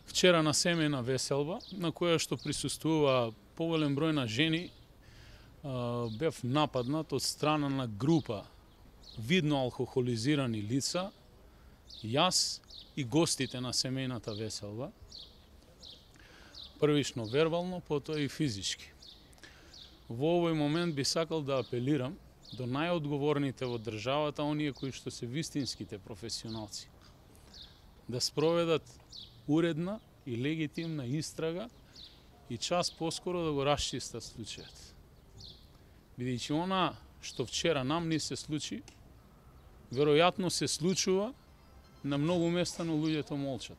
Вчера на семејна веселба, на која што присуствува поволен број на жени, бев нападнат од страна на група видно алкохолизирани лица, јас и гостите на семејната веселба, првично вербално, потоа и физички. Во овој момент би сакал да апелирам до најодговорните во државата, оние кои што се вистинските професионалци, да спроведат уредна и легитимна истрага и час поскоро да го расчистат случајот. Бидејќи она што вчера нам ни се случи, веројатно се случува на многу места, но луѓето молчат.